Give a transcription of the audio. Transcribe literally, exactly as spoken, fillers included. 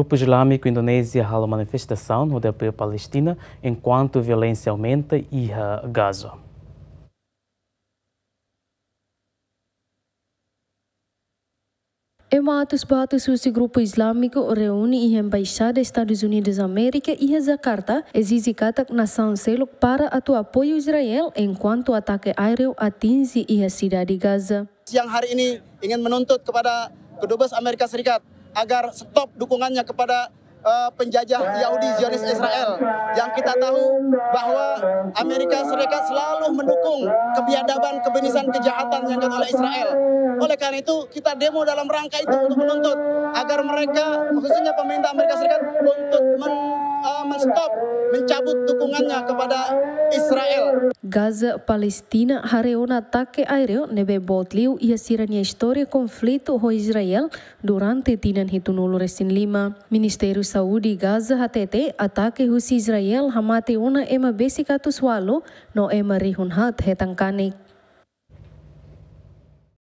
Grupu Islamiku Indonézia halo manifestasaun hodi apoia Palestina, enkuantu violénsia aumenta iha Gaza. Ema atus ba atus husi grupu Islamiku reúne iha Embaixada Estadus Unidus Amérika iha Jakarta, ezije katak nasaun seluk para atu apoiu Israel, enkuantu atake aéreu atinje iha sidade Gaza. Siang hari ini ingin menuntut kepada kedubes Amerika Serikat agar stop dukungannya kepada, eh, penjajah Yahudi Zionis Israel, yang kita tahu bahwa Amerika Serikat selalu mendukung kebiadaban, kebinasaan, kejahatan yang dilakukan oleh Israel. Oleh karena itu, kita demo dalam rangka itu untuk menuntut agar mereka, khususnya pemerintah Amerika Serikat, untuk men-, eh, men-stop, mencabut dukungannya kepada Israel. Gaza, Palestina haree ona atake aéreu ne'ebé boot liu iha sira-nia istória konflitu ho Israel durante tinan hitunulu resin lima. Ministériu Saúde Gaza hatete atake husi Israel hamate ona ema besik atus ualu no ema rihun haat hetan kanek.